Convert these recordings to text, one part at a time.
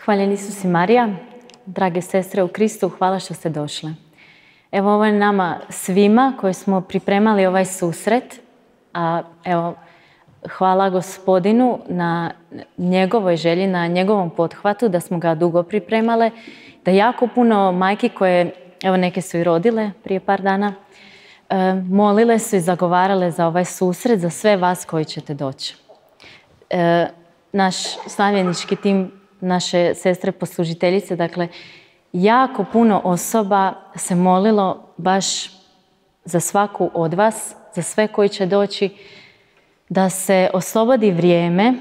Hvaljen Isus i Marija, drage sestre u Kristu, hvala što ste došle. Evo, ovo je nama svima koji smo pripremali ovaj susret, a evo, hvala Gospodinu na njegovoj želji, na njegovom pothvatu, da smo ga dugo pripremale, da jako puno majki koje, evo neke su i rodile prije par dana, molile su i zagovarale za ovaj susret, za sve vas koji ćete doći. Naš slavljenički tim, naše sestre poslužiteljice, dakle, jako puno osoba se molilo baš za svaku od vas, za sve koji će doći, da se oslobodi vrijeme,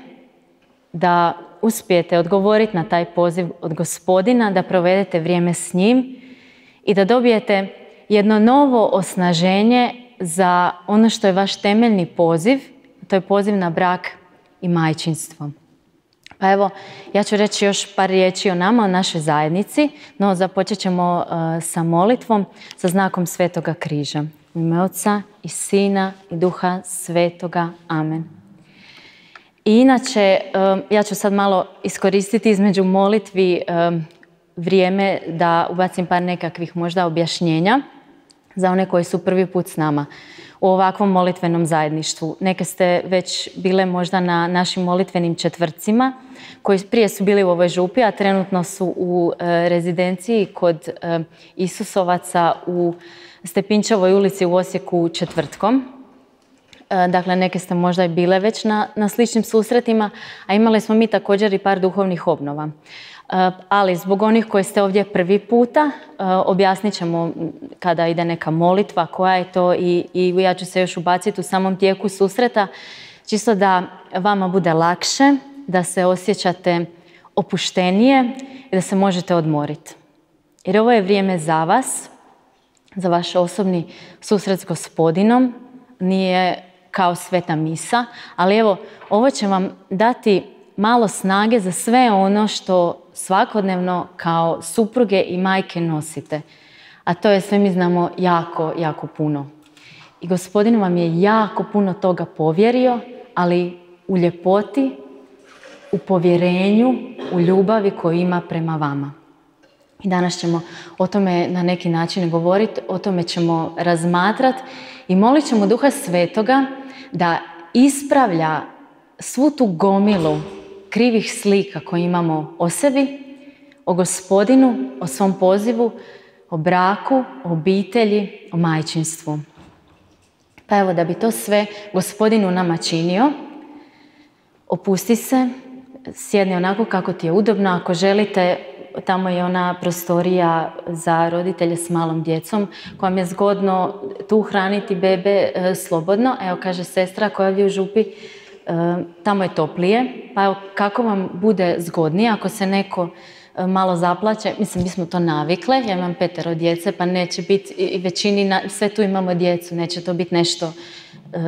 da uspijete odgovoriti na taj poziv od Gospodina, da provedete vrijeme s njim i da dobijete jedno novo osnaženje za ono što je vaš temeljni poziv, to je poziv na brak i majčinstvo. Pa evo, ja ću reći još par riječi o nama, o našoj zajednici, no započet ćemo sa molitvom sa znakom Svetoga križa. U ime Oca i Sina i Duha Svetoga. Amen. I inače, ja ću sad malo iskoristiti između molitvi vrijeme da ubacim par nekakvih možda objašnjenja za one koji su prvi put s nama u ovakvom molitvenom zajedništvu. Neke ste već bile možda na našim molitvenim četvrtcima, koji prije su bili u ovoj župi, a trenutno su u rezidenciji kod Isusovaca u Stepinčevoj ulici u Osijeku četvrtkom. Dakle, neke ste možda i bile već na sličnim susretima, a imali smo mi također i par duhovnih obnova. Ali zbog onih koji ste ovdje prvi puta, objasnit ćemo kada ide neka molitva, koja je to i ja ću se još ubaciti u samom tijeku susreta, čisto da vama bude lakše, da se osjećate opuštenije i da se možete odmoriti. Jer ovo je vrijeme za vas, za vaš osobni susret s Gospodinom, nije kao sveta misa, ali evo, ovo će vam dati malo snage za sve ono što svakodnevno kao supruge i majke nosite. A to je, sve mi znamo, jako, jako puno. I Gospodin vam je jako puno toga povjerio, ali u ljepoti, u povjerenju, u ljubavi koju ima prema vama. I danas ćemo o tome na neki način govoriti, o tome ćemo razmatrati i molit ćemo Duha Svetoga da ispravlja svu tu gomilu krivih slika koje imamo o sebi, o Gospodinu, o svom pozivu, o braku, o obitelji, o majčinstvu. Pa evo, da bi to sve Gospodin u nama činio, opusti se, sjedni onako kako ti je udobno. Ako želite, tamo je ona prostorija za roditelje s malom djecom, kojom je zgodno tu hraniti bebe slobodno. Evo, kaže sestra koja je ovdje u župi, tamo je toplije, pa evo, kako vam bude zgodnije, ako se neko malo zaplaće, mislim, mi smo to navikle, ja imam 5 djece, pa neće biti, i većini, sve tu imamo djecu, neće to biti nešto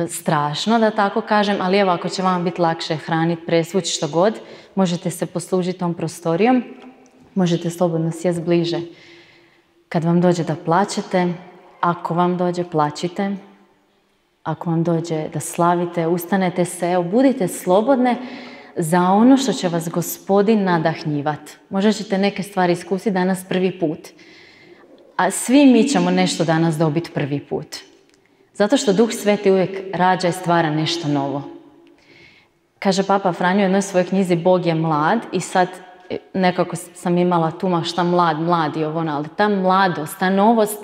strašno, da tako kažem, ali evo, ako će vam biti lakše hraniti, presvući, što god, možete se poslužiti tom prostorijom, možete slobodno sjesti bliže. Kad vam dođe da plačete, ako vam dođe, plačite. Ako vam dođe da slavite, ustanete se, budite slobodne za ono što će vas Gospodin nadahnjivati. Možda ćete neke stvari iskusiti danas prvi put. A svi mi ćemo nešto danas dobiti prvi put. Zato što Duh Sveti uvijek rađa i stvara nešto novo. Kaže Papa Franjo u jednoj svojoj knjizi Bog je mlad, i sad nekako sam imala tu šta mlad i ovo, ali ta mladost, ta novost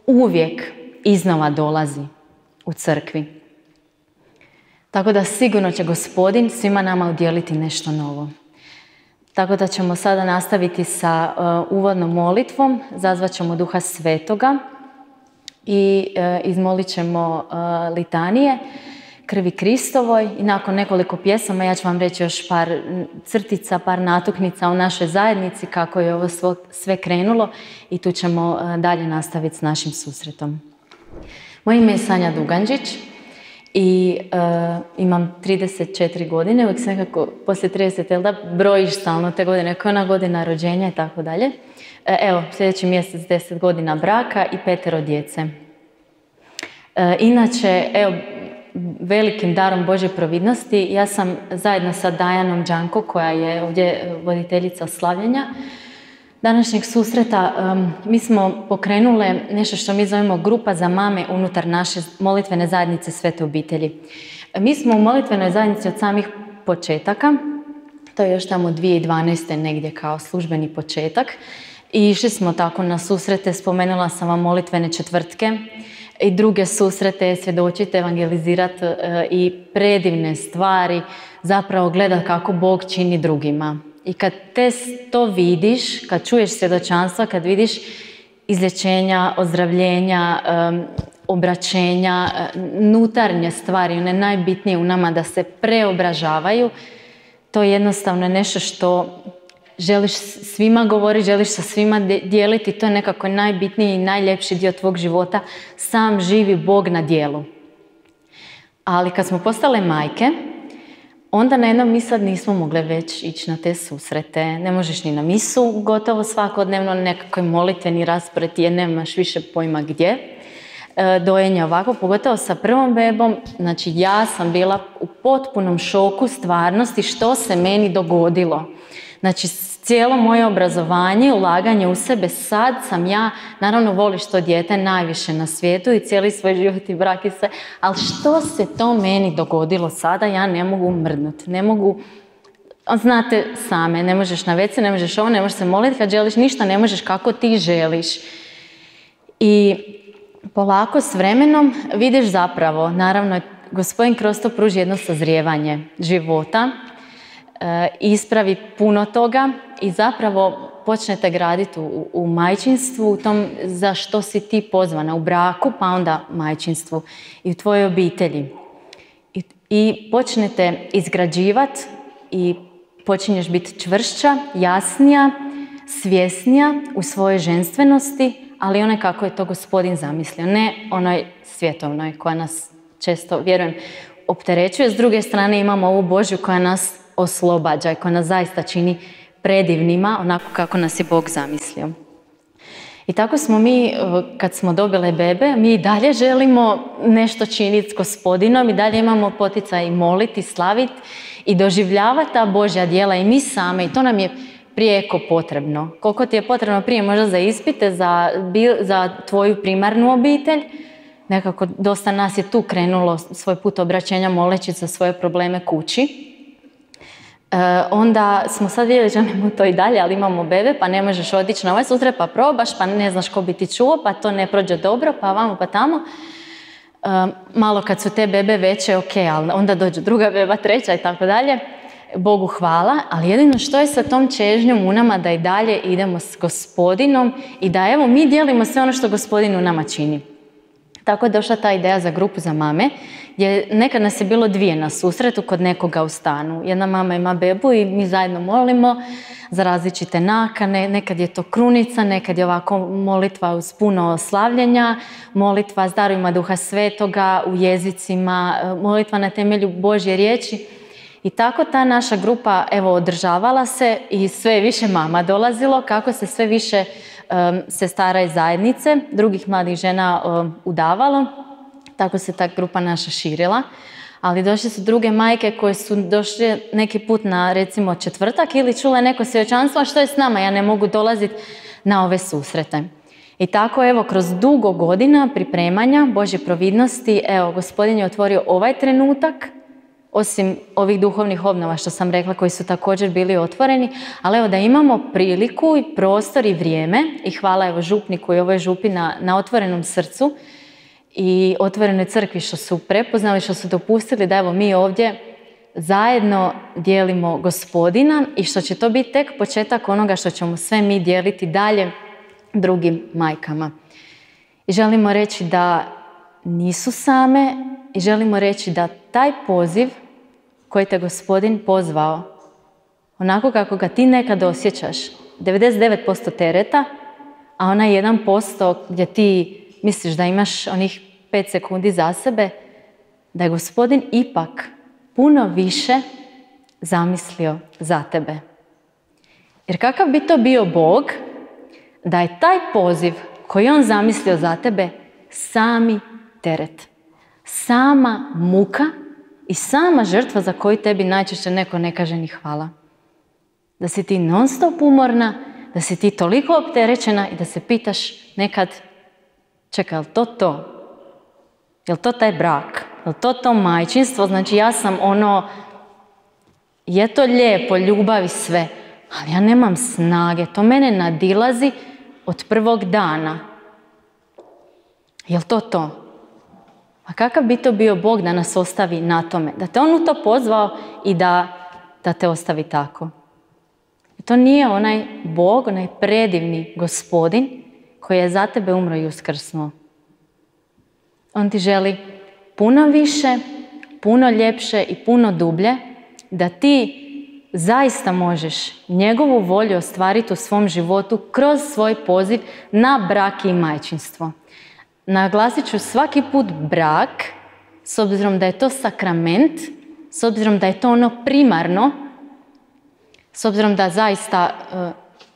uvijek iznova dolazi u crkvi. Tako da sigurno će Gospodin svima nama udjeliti nešto novo. Tako da ćemo sada nastaviti sa uvodnom molitvom, zazvat ćemo Duha Svetoga i izmolit ćemo litanije krvi Kristovoj, i nakon nekoliko pjesama ja ću vam reći još par crtica, par natuknica o našoj zajednici, kako je ovo sve krenulo, i tu ćemo dalje nastaviti s našim susretom. Moje ime je Sanja Duganđić i imam 34 godine, uvijek se nekako poslije 30, jel da, brojiš stalno te godine, koja je ona godina rođenja i tako dalje. Evo, sljedeći mjesec 10 godina braka i 5 djece. Inače, evo, velikim darom Božje providnosti, ja sam zajedno sa Dajanom Đanko, koja je ovdje voditeljica slavljenja današnjeg susreta, mi smo pokrenule nešto što mi zovemo grupa za mame unutar naše molitvene zajednice Svete obitelji. Mi smo u molitvenoj zajednici od samih početaka, to je još tamo 2012. negdje kao službeni početak, i išli smo tako na susrete, spomenula sam vam molitvene četvrtke i druge susrete, svjedočiti, evangelizirati i predivne stvari, zapravo gledati kako Bog čini drugima. I kad to vidiš, kad čuješ svjedočanstva, kad vidiš izlječenja, ozdravljenja, obraćenja, unutarnje stvari, one najbitnije u nama da se preobražavaju, to je jednostavno nešto što želiš svima govoriti, želiš sa svima dijeliti, to je nekako najbitniji i najljepši dio tvog života, sam živi Bog na djelu. Ali kad smo postale majke, onda na jednom mi sad nismo mogle već ići na te susrete. Ne možeš ni na misu gotovo svakodnevno, nekakvoj molitveni raspored jer nemaš više pojma gdje. Dojenje ovako, pogotovo sa prvom bebom, znači ja sam bila u potpunom šoku stvarnosti što se meni dogodilo. Znači cijelo moje obrazovanje, ulaganje u sebe, sad sam ja, naravno voliš to dijete najviše na svijetu i cijeli svoj život i brak i sve, ali što se to meni dogodilo sada, ja ne mogu mrdnuti, ne mogu, znate same, ne možeš na WC, ne možeš ovo, ne možeš se moliti kad želiš, ništa ne možeš kako ti želiš. I polako s vremenom vidiš zapravo, naravno, Gospodin kroz to pruži jedno sazrijevanje života, ispravi puno toga i zapravo počnete graditi u majčinstvu, u tom za što si ti pozvana, u braku, pa onda majčinstvu i u tvojoj obitelji. I počnete izgrađivati i počinješ biti čvršća, jasnija, svjesnija u svojoj ženstvenosti, ali onaj kako je to Gospodin zamislio, ne onoj svjetovnoj koja nas često, vjerujem, opterećuje. S druge strane imamo ovu Božju koja nas oslobađa i koja nas zaista čini predivnima, onako kako nas je Bog zamislio. I tako smo mi, kad smo dobile bebe, mi i dalje želimo nešto činiti s Gospodinom i dalje imamo poticaj i moliti, slaviti i doživljavati ta Božja djela i mi same, i to nam je prijeko potrebno. Koliko ti je potrebno prije možda za ispite, za tvoju primarnu obitelj, nekako dosta nas je tu krenulo svoj put obraćenja moleći za svoje probleme kući. Onda smo sad vidjeli, želimo to i dalje, ali imamo bebe, pa ne možeš otići na ovaj susret, pa probaš, pa ne znaš ko bi ti čuo, pa to ne prođe dobro, pa vamo, pa tamo. Malo kad su te bebe veće, ok, ali onda dođe druga beba, treća i tako dalje. Bogu hvala, ali jedino što je sa tom čežnjom u nama da i dalje idemo s Gospodinom i da evo mi dijelimo sve ono što Gospodin u nama čini. Tako je došla ta ideja za grupu za mame, gdje nekad nas je bilo dvije na susretu kod nekoga u stanu. Jedna mama ima bebu i mi zajedno molimo za različite nakane, nekad je to krunica, nekad je ovako molitva uz puno slavljenja, molitva s darovima Duha Svetoga u jezicima, molitva na temelju Božje riječi. I tako ta naša grupa održavala se i sve više mama dolazilo, kako se sve više sestara iz zajednice, drugih mladih žena udavalo, tako se ta grupa naša širila. Ali došle su druge majke koje su došle neki put na recimo četvrtak ili čule neko svjedočanstvo, a što je s nama, ja ne mogu dolaziti na ove susrete. I tako kroz dugo godina pripremanja Božje providnosti, Gospodin je otvorio ovaj trenutak, osim ovih duhovnih obnova što sam rekla koji su također bili otvoreni, ali da imamo priliku i prostor i vrijeme i hvala župniku i ovoj župi na otvorenom srcu i otvorenoj crkvi što su prepoznali, što su dopustili da mi ovdje zajedno dijelimo Gospodina i što će to biti tek početak onoga što ćemo sve mi dijeliti dalje drugim majkama. I želimo reći da nisu same i želimo reći da taj poziv koji te Gospodin pozvao, onako kako ga ti nekad osjećaš, 99% tereta, a onaj 1% gdje ti misliš da imaš onih 5 sekundi za sebe, da je Gospodin ipak puno više zamislio za tebe. Jer kakav bi to bio Bog da je taj poziv koji on zamislio za tebe sami teret, sama muka i sama žrtva za koju tebi najčešće neko ne kaže ni hvala. Da si ti non stop umorna, da si ti toliko opterećena i da se pitaš nekad, čekaj, je li to to? Je li to taj brak? Je li to majčinstvo? Znači ja sam je to lijepo, ljubav i sve, ali ja nemam snage, to mene nadilazi od prvog dana. Je li to to? A kakav bi to bio Bog da nas ostavi na tome? Da te On u to pozvao i da te ostavi tako. I to nije onaj Bog, onaj predivni Gospodin koji je za tebe umro i uskrsnuo. On ti želi puno više, puno ljepše i puno dublje, da ti zaista možeš njegovu volju ostvariti u svom životu kroz svoj poziv na brak i majčinstvo. Naglasit ću svaki put brak, s obzirom da je to sakrament, s obzirom da je to ono primarno, s obzirom da zaista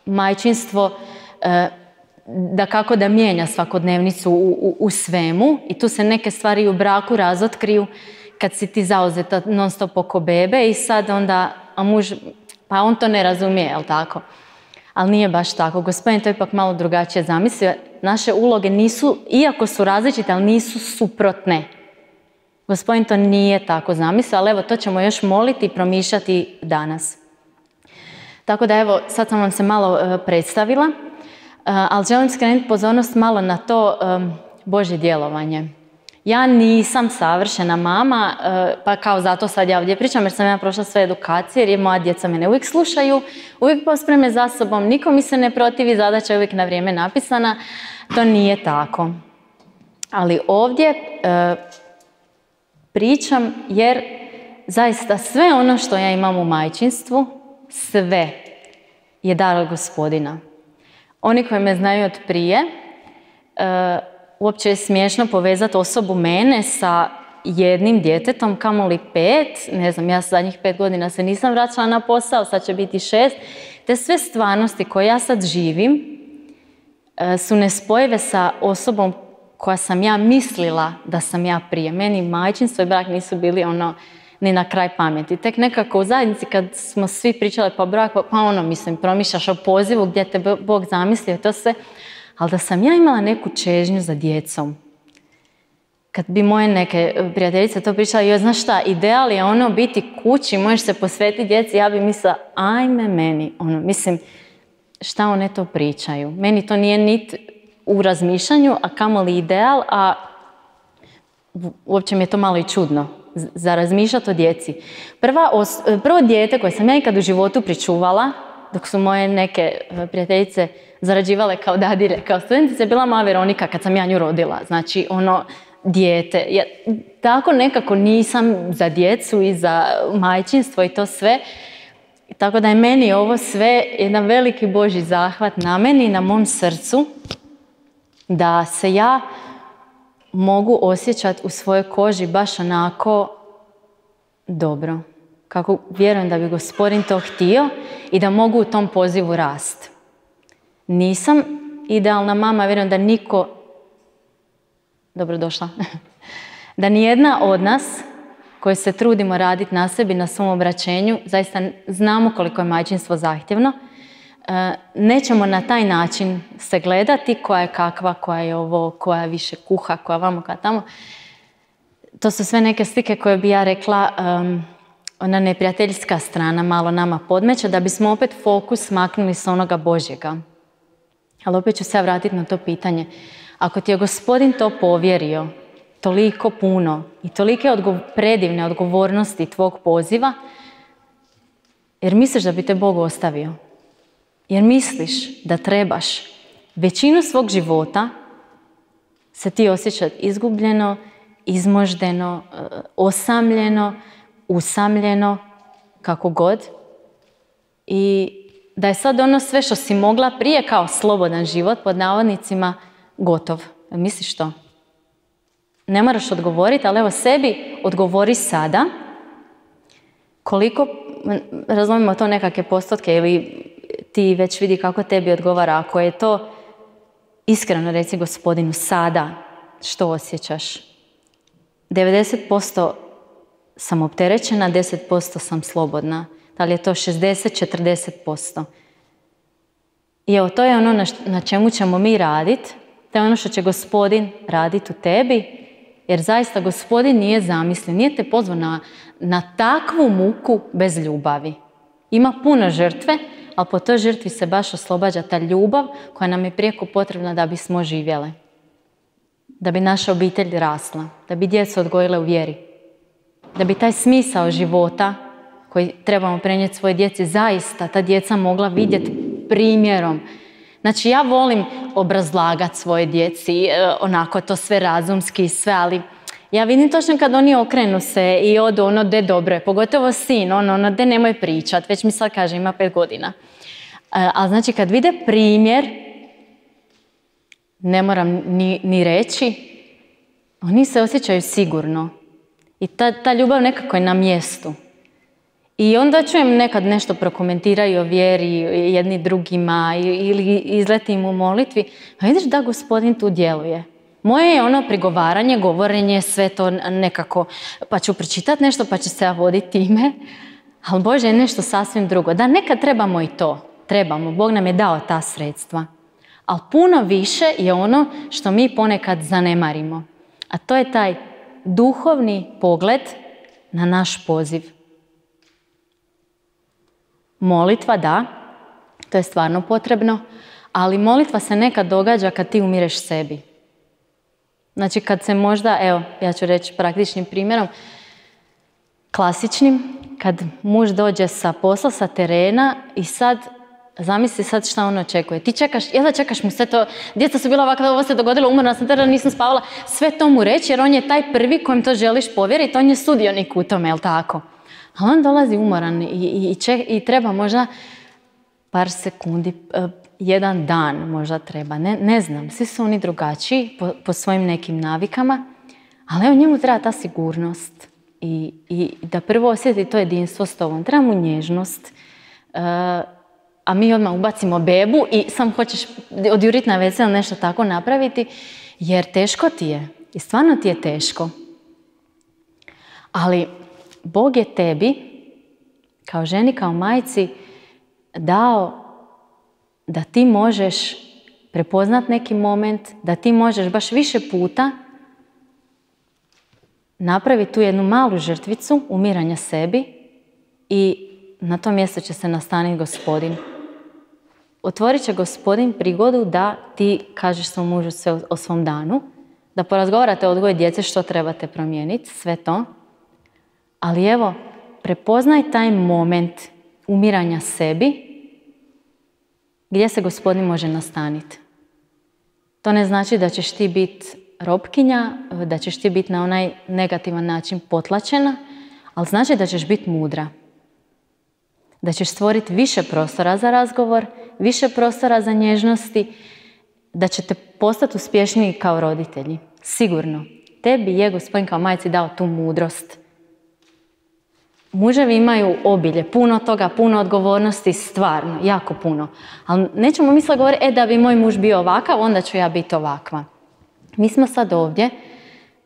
majčinstvo da kako da mijenja svakodnevnicu u svemu i tu se neke stvari u braku razotkriju kad si ti zauzeta non stop oko bebe i sad onda, a muž, pa on to ne razumije, jel tako? Ali nije baš tako. Gospodin to ipak malo drugačije zamislio. Naše uloge nisu, iako su različite, ali nisu suprotne. Gospodin to nije tako zamislio, ali evo, to ćemo još moliti i promišljati danas. Tako da evo, sad sam vam se malo predstavila, ali želim skrenuti pozornost malo na to Božje djelovanje. Ja nisam savršena mama, pa kao zato sad ja ovdje pričam jer sam ja prošla sve edukacije, jer moja djeca mene uvijek slušaju, uvijek pospreme za sobom, niko mi se ne protivi, zadaća je uvijek na vrijeme napisana. To nije tako. Ali ovdje pričam jer zaista sve ono što ja imam u majčinstvu, sve je dar od Gospodina. Oni koji me znaju od prije, uopće je smiješno povezati osobu mene sa jednim djetetom, kamoli 5. Ne znam, ja zadnjih 5 godina se nisam vraćala na posao, sad će biti 6. Te sve stvarnosti koje ja sad živim su nespojive sa osobom koja sam ja mislila da sam ja prije. Meni majčinstvo i brak nisu bili ni na kraj pameti. Tek nekako u zajednici kad smo svi pričali po braku, promišljaš o pozivu gdje te Bog zamislio to sve. Ali da sam ja imala neku čežnju za djecom. Kad bi moje neke prijateljice to pričale, joj, znaš šta, ideal je biti kući, možeš se posvetiti djeci, ja bi mislila, ajme meni, mislim, šta one to pričaju. Meni to nije niti u razmišljanju, a kamoli ideal, a uopće mi je to malo i čudno za razmišljati o djeci. Prvo dijete koje sam ja ikad u životu pričuvala, dok su moje neke prijateljice zarađivale kao dadilje, kao studentice, je bila moja Veronika kad sam ja nju rodila. Znači, dijete. Ja tako nekako nisam za djecu i za majčinstvo i to sve. Tako da je meni ovo sve jedan veliki Božji zahvat na meni i na mom srcu, da se ja mogu osjećati u svojoj koži baš onako dobro. Kako vjerujem da bi Gospodin to htio i da mogu u tom pozivu rasti. Nisam idealna mama, vjerujem da niko, dobrodošla, da nijedna od nas koji se trudimo raditi na sebi, na svom obraćenju, zaista znamo koliko je majčinstvo zahtjevno, nećemo na taj način se gledati koja je kakva, koja je ovo, koja više kuha, koja vamo, koja tamo. To su sve neke slike koje bi ja rekla, ona neprijateljska strana malo nama podmeće, da bismo opet fokus maknuli s onoga Božjega. Ali opet ću se vratiti na to pitanje. Ako ti je Gospodin to povjerio, toliko puno i tolike predivne odgovornosti tvog poziva, jer misliš da bi te Bog ostavio? Jer misliš da trebaš većinu svog života se ti osjećati izgubljeno, izmoždeno, osamljeno, usamljeno, kako god. I da je sad sve što si mogla prije kao slobodan život, pod navodnicima, gotov. Misliš to? Ne moraš odgovoriti, ali evo sebi odgovori sada koliko, razumimo to nekakve postotke ili ti već vidi kako tebi odgovara. Ako je to iskreno reci Gospodinu sada, što osjećaš? 90% sam opterećena, 10% sam slobodna. Da li je to 60-40%? I evo, to je ono na čemu ćemo mi raditi. To je ono što će Gospodin raditi u tebi. Jer zaista Gospodin nije zamislio, nije te pozvao na takvu muku bez ljubavi. Ima puno žrtve, ali po toj žrtvi se baš oslobađa ta ljubav koja nam je prijeko potrebna da bismo živjele. Da bi naša obitelj rasla, da bi djecu odgojile u vjeri. Da bi taj smisao života koji trebamo prenijeti svoje djeci, zaista ta djeca mogla vidjeti primjerom. Znači, ja volim obrazlagati svoje djeci, onako to sve razumski i sve, ali ja vidim točno kad oni okrenu se i odu ono de dobro je, pogotovo sin, ono de nemoj pričat, već mi sad kaže ima 5 godina. Ali znači kad vide primjer, ne moram ni reći, oni se osjećaju sigurno. I ta ljubav nekako je na mjestu. I onda čujem nekad nešto prokomentiraju o vjeri jedni drugima ili izletim u molitvi, a vidiš da Gospodin tu djeluje. Moje je ono prigovaranje, govorenje, sve to nekako, pa ću pročitati nešto, pa ću se ja voditi time. Ali Bože je nešto sasvim drugo. Da, nekad trebamo i to. Trebamo. Bog nam je dao ta sredstva. Ali puno više je ono što mi ponekad zanemarimo. A to je taj duhovni pogled na naš poziv. Molitva, da, to je stvarno potrebno, ali molitva se nekad događa kad ti umireš sebi. Znači kad se možda, evo, ja ću reći praktičnim primjerom, klasičnim, kad muž dođe sa posla, sa terena i sad, zamisli sad šta on očekuje. Ti čekaš, jel da čekaš mu sve to, djeca su bila ovakva, ovo se dogodilo, umorna sam terena, nisam spavala, sve to mu reći jer on je taj prvi kojem to želiš povjeriti, on je sudionik u tome, jel tako? A on dolazi umoran i treba možda par sekundi, jedan dan možda treba, ne znam, svi su oni drugačiji po svojim nekim navikama, ali evo njemu treba ta sigurnost i da prvo osjeti to jedinstvo s tobom, treba mu nježnost, a mi odmah ubacimo bebu i sam hoćeš odjuriti na WC ili nešto tako napraviti, jer teško ti je i stvarno ti je teško. Ali Bog je tebi, kao ženi, kao majci, dao da ti možeš prepoznat neki moment, da ti možeš baš više puta napraviti tu jednu malu žrtvicu umiranja sebi i na to mjesto će se nastaniti Gospodin. Otvorit će Gospodin prigodu da ti kažeš svom mužu sve o svom danu, da porazgovarate o odgoju djece što trebate promijeniti, sve to. Ali evo, prepoznaj taj moment umiranja sebi gdje se Gospodin može nastaniti. To ne znači da ćeš ti biti robkinja, da ćeš ti biti na onaj negativan način potlačena, ali znači da ćeš biti mudra. Da ćeš stvoriti više prostora za razgovor, više prostora za nježnosti, da ćete postati uspješniji kao roditelji. Sigurno. Tebi je Gospodin kao majci dao tu mudrost. Muževi imaju obilje, puno toga, puno odgovornosti, stvarno, jako puno. Ali nećemo misle govoriti, da bi moj muž bio ovakav, onda ću ja biti ovakva. Mi smo sad ovdje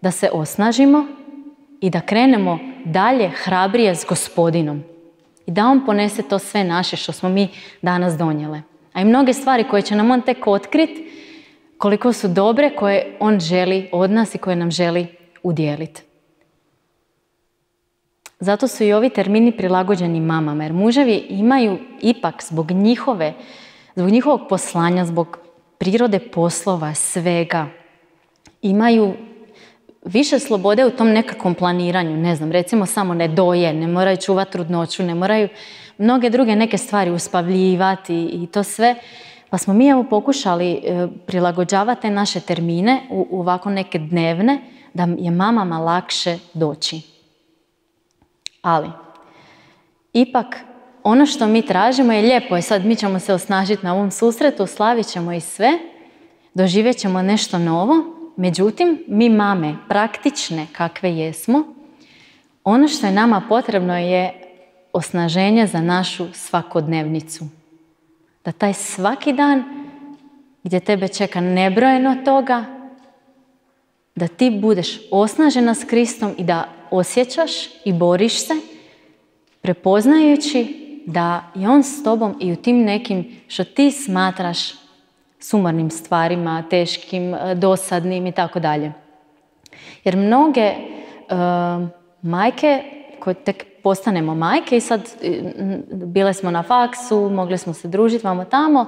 da se osnažimo i da krenemo dalje hrabrije s Gospodinom. I da on ponese to sve naše što smo mi danas donijele. A i mnoge stvari koje će nam on tek otkriti, koliko su dobre, koje on želi od nas i koje nam želi udijeliti. Zato su i ovi termini prilagođeni mamama, jer muževi imaju ipak zbog njihovog poslanja, zbog prirode poslova, svega, imaju više slobode u tom nekakvom planiranju. Ne znam, recimo samo ne doje, ne moraju čuvati trudnoću, ne moraju mnoge druge neke stvari uspavljivati i to sve. Pa smo mi evo pokušali prilagođavati te naše termine u ovako neke dnevne, da je mamama lakše doći. Ali, ipak, ono što mi tražimo je lijepo i sad mi ćemo se osnažiti na ovom susretu, slavit ćemo i sve, doživjet ćemo nešto novo. Međutim, mi mame, praktične kakve jesmo, ono što je nama potrebno je osnaženje za našu svakodnevnicu. Da taj svaki dan gdje tebe čeka nebrojeno toga, da ti budeš osnažena s Kristom i da osjećaš i boriš se, prepoznajući da je on s tobom i u tim nekim što ti smatraš sumornim stvarima, teškim, dosadnim i tako dalje. Jer mnoge majke, koje tek postanemo majke i sad bile smo na faksu, mogli smo se družiti vamo tamo,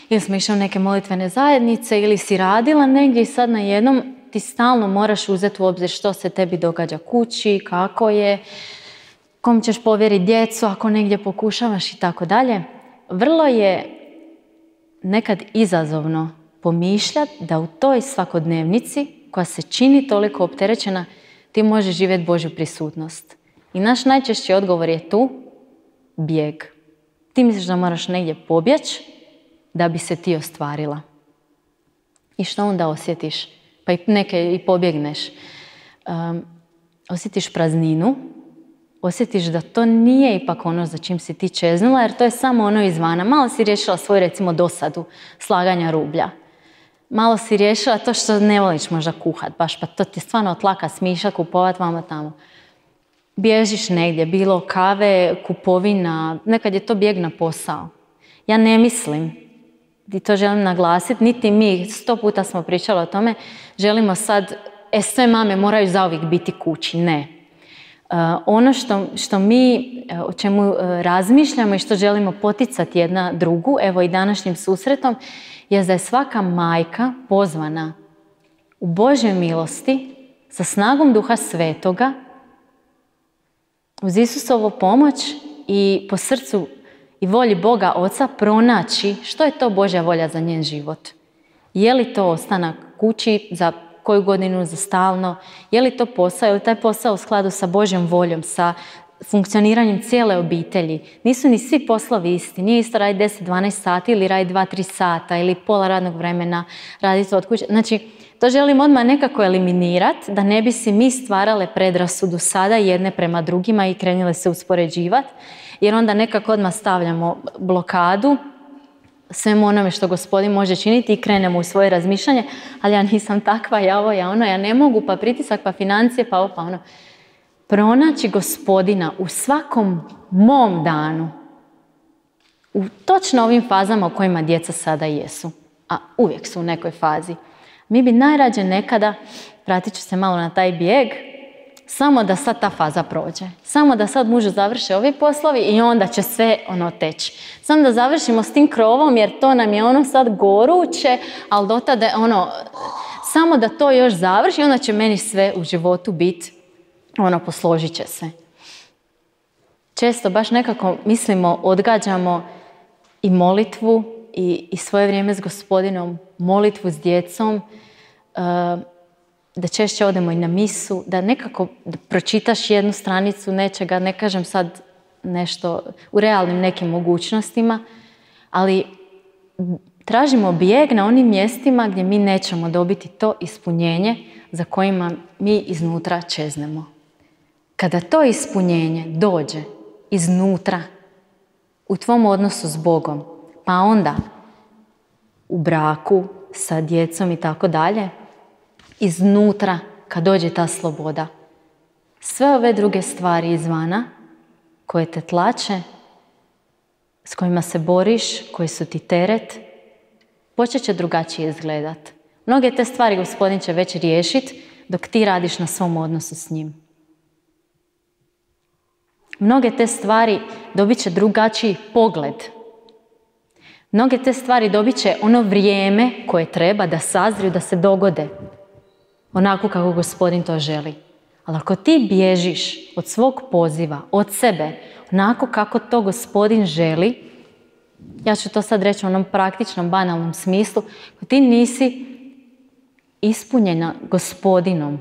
ili smo išli u neke molitvene zajednice, ili si radila negdje i sad najednom ti stalno moraš uzeti u obzir što se tebi događa kući, kako je, kom ćeš povjeriti djecu ako negdje pokušavaš i tako dalje. Vrlo je nekad izazovno pomišljati da u toj svakodnevnici koja se čini toliko opterećena, ti možeš živjeti Božju prisutnost. I naš najčešći odgovor je tu bijeg. Ti misliš da moraš negdje pobjeći da bi se ti ostvarila. I što onda osjetiš? Pa i neke i pobjegneš. Osjetiš prazninu, osjetiš da to nije ipak ono za čim si ti čeznula, jer to je samo ono izvana. Malo si riješila svoju, recimo, dosadu slaganja rublja. Malo si riješila to što ne voliš možda kuhat, baš, pa to ti je stvarno tlaka smišlja, kupovat vamo tamo. Bježiš negdje, bilo kave, kupovina, nekad je to bijeg na posao. Ja ne mislim, i to želim naglasiti, niti mi, 100 puta smo pričali o tome, želimo sad, sve mame moraju zauvijek biti kući, ne. Ono što mi, o čemu razmišljamo i što želimo poticati jedna drugu, evo i današnjim susretom, je da je svaka majka pozvana u Božjoj milosti sa snagom Duha Svetoga, uz Isusovu pomoć i po srcu i volji Boga Oca pronaći što je to Božja volja za njen život. Je li to ostanak kući za koju godinu, za stalno, je li to posao, je li taj posao u skladu sa Božjom voljom, sa funkcioniranjem cijele obitelji. Nisu ni svi poslovi isti, nije isto raditi 10-12 sati ili raditi 2-3 sata ili pola radnog vremena raditi od kuće. Znači, to želim odmah nekako eliminirati, da ne bi si mi stvarale predrasudu sada jedne prema drugima i krenule se uspoređivati, jer onda nekako odmah stavljamo blokadu svemu onome što Gospodin može činiti i krenemo u svoje razmišljanje, ali ja nisam takva, ja ovo, ja ono, ja ne mogu, pa pritisak, pa financije, pa ovo, pa ono. Pronaći Gospodina u svakom mom danu, u točno ovim fazama u kojima djeca sada jesu, a uvijek su u nekoj fazi. Mi bi najrađe nekada, vratit ću se malo na taj bijeg, samo da sad ta faza prođe. Samo da sad mužu završe ovi poslovi i onda će sve ono teći. Samo da završimo s tim krovom jer to nam je ono sad goruće, ali do tada ono, samo da to još završi i onda će meni sve u životu biti, ono, posložit će se. Često baš nekako mislimo, odgađamo i molitvu i svoje vrijeme s Gospodinom, molitvu s djecom, da češće odemo i na misu, da nekako pročitaš jednu stranicu nečega, ne kažem sad nešto u realnim nekim mogućnostima, ali tražimo bijeg na onim mjestima gdje mi nećemo dobiti to ispunjenje za kojima mi iznutra čeznemo. Kada to ispunjenje dođe iznutra, u tvom odnosu s Bogom, pa onda u braku, sa djecom i tako dalje, iznutra, kad dođe ta sloboda, sve ove druge stvari izvana, koje te tlače, s kojima se boriš, koji su ti teret, počet će drugačije izgledat. Mnoge te stvari Gospodin će već riješiti dok ti radiš na svom odnosu s njim. Mnoge te stvari dobit će drugačiji pogled. Mnoge te stvari dobit će ono vrijeme koje treba da sazriju, da se dogode. Onako kako Gospodin to želi. Ali ako ti bježiš od svog poziva, od sebe, onako kako to Gospodin želi, ja ću to sad reći u onom praktičnom, banalnom smislu, ako ti nisi ispunjena Gospodinom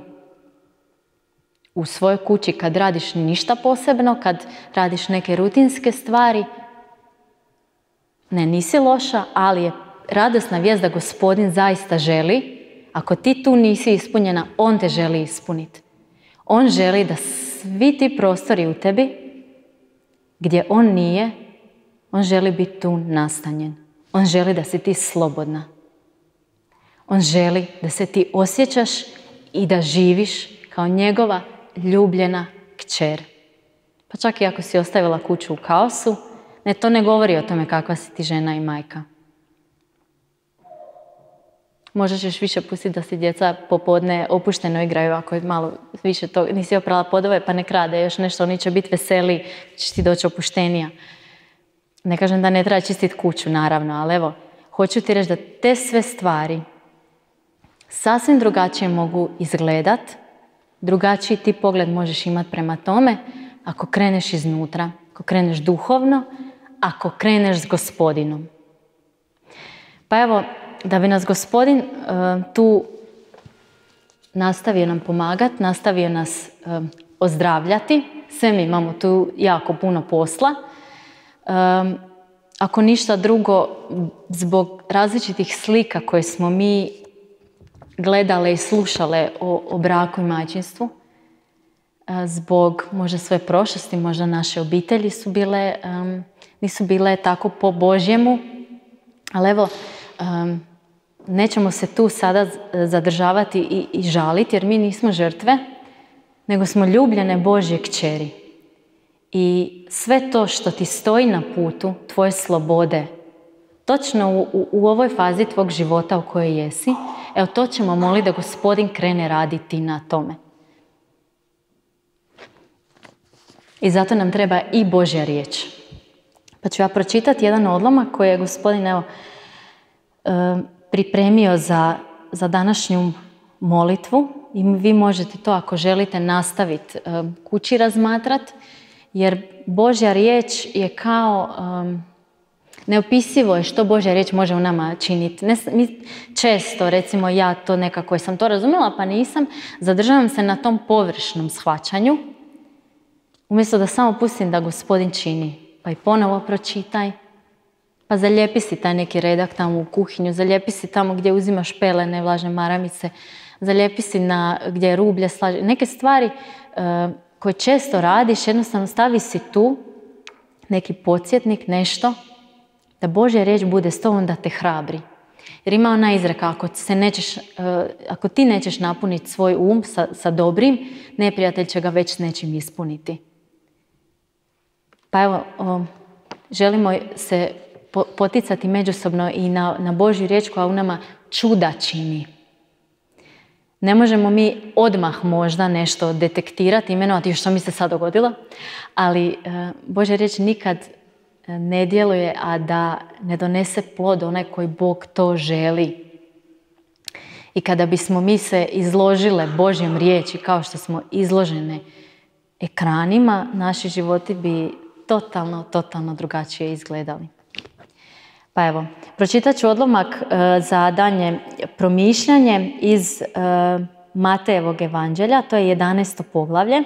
u svojoj kući kad radiš ništa posebno, kad radiš neke rutinske stvari, ne, nisi loša, ali je radosna vijest da Gospodin zaista želi. Ako ti tu nisi ispunjena, on te želi ispuniti. On želi da svi ti prostori u tebi, gdje on nije, on želi biti tu nastanjen. On želi da si ti slobodna. On želi da se ti osjećaš i da živiš kao njegova ljubljena kćer. Pa čak i ako si ostavila kuću u kaosu, to ne govori o tome kakva si ti žena i majka. Možda ćeš više pustiti da si djeca popodne opušteno igraju, ako je malo više to, nisi oprala podove pa nek rade još nešto, oni će biti veseli, ćeš ti doći opuštenija. Ne kažem da ne treba čistiti kuću, naravno, ali evo, hoću ti reći da te sve stvari sasvim drugačije mogu izgledat, drugačiji ti pogled možeš imati prema tome ako kreneš iznutra, ako kreneš duhovno, ako kreneš s Gospodinom. Pa evo, da bi nas Gospodin tu nastavio nam pomagati, nastavio nas ozdravljati, sve mi imamo tu jako puno posla. Ako ništa drugo, zbog različitih slika koje smo mi gledale i slušale o braku i majčinstvu, zbog možda svoje prošlosti, možda naše obitelji nisu bile tako po Božjemu, ali evo, nećemo se tu sada zadržavati i žaliti, jer mi nismo žrtve, nego smo ljubljene Božje kćeri. I sve to što ti stoji na putu tvoje slobode, točno u ovoj fazi tvog života u kojoj jesi, evo to ćemo moliti da Gospodin krene raditi na tome. I zato nam treba i Božja riječ. Pa ću ja pročitati jedan odlomak koji je Gospodin pripremio za današnju molitvu. I vi možete to, ako želite, nastaviti kući razmatrati, jer Božja riječ je kao... neopisivo je što Božja riječ može u nama činiti. Mi često, recimo ja to nekako sam to razumjela pa nisam, zadržavam se na tom površnom shvaćanju, umjesto da samo pustim da Gospodin čini. Pa i ponovo pročitaj, pa zalijepi si taj neki redak tamo u kuhinju, zalijepi si tamo gdje uzimaš pelene, vlažne maramice, zalijepi si gdje je rublje slaže. Neke stvari koje često radiš, jednostavno stavi si tu neki podsjetnik, nešto, da Božja riječ bude s tobom, da te hrabri. Jer ima ona izreka, ako ti nećeš napuniti svoj um sa dobrim, neprijatelj će ga već s nečim ispuniti. Pa evo, želimo se poticati međusobno i na Božju riječ koja u nama čuda čini. Ne možemo mi odmah možda nešto detektirati, imenovati što mi se sad dogodilo, ali Božja riječ nikad ne djeluje, a da ne donese plod onaj koji Bog to želi. I kada bismo mi se izložile Božjem riječi kao što smo izložene ekranima, naši životi bi totalno drugačije izgledali. Pa evo, pročitat ću odlomak za danje promišljanje iz Matejevog evanđelja, to je 11. poglavlje.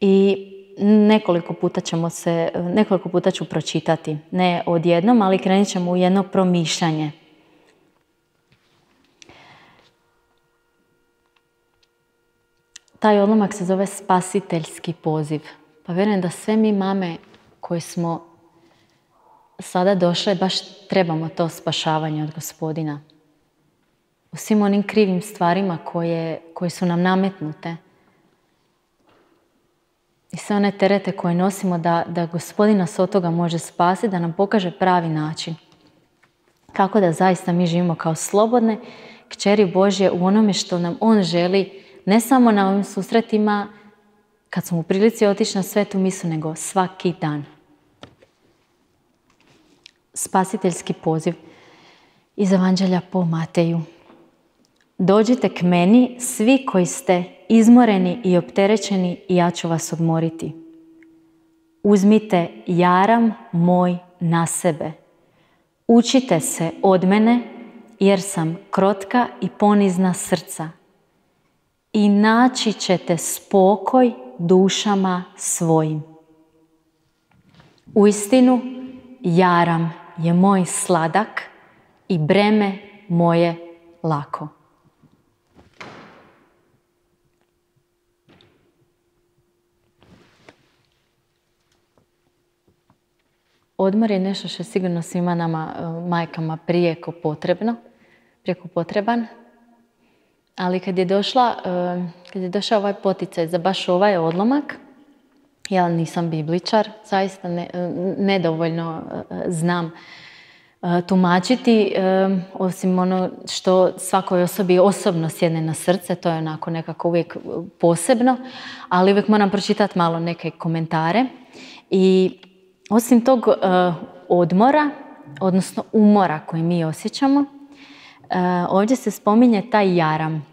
I nekoliko puta ću pročitati, ne odjednom, ali krenut ćemo u jedno promišljanje. Taj odlomak se zove spasiteljski poziv. Pa vjerujem da sve mi mame koje smo sada došle baš trebamo to spašavanje od Gospodina. U svim onim krivim stvarima koje su nam nametnute. I sve one terete koje nosimo da Gospodin nas od toga može spasiti, da nam pokaže pravi način. Kako da zaista mi živimo kao slobodne kćeri Božje u onome što nam On želi, ne samo na ovim susretima, kad smo u prilici otići na svetu misu, nego svaki dan. Spasiteljski poziv iz Evanđelja po Mateju. Dođite k meni, svi koji ste izmoreni i opterećeni, i ja ću vas odmoriti. Uzmite jaram moj na sebe. Učite se od mene, jer sam krotka i ponizna srca. I naći ćete spokoj dušama svojim. Uistinu, jaram je moj sladak i breme moje lako. Odmor je nešto što je sigurno svima nama, majkama, prijeko potreban. Ali kad je došao ovaj poticaj za baš ovaj odlomak, ja nisam bibličar, zaista nedovoljno znam tumačiti, osim ono što svakoj osobi osobno sjedne na srce, to je onako nekako uvijek posebno, ali uvijek moram pročitati malo neke komentare. I osim tog odmora, odnosno umora koji mi osjećamo, ovdje se spominje taj jaram.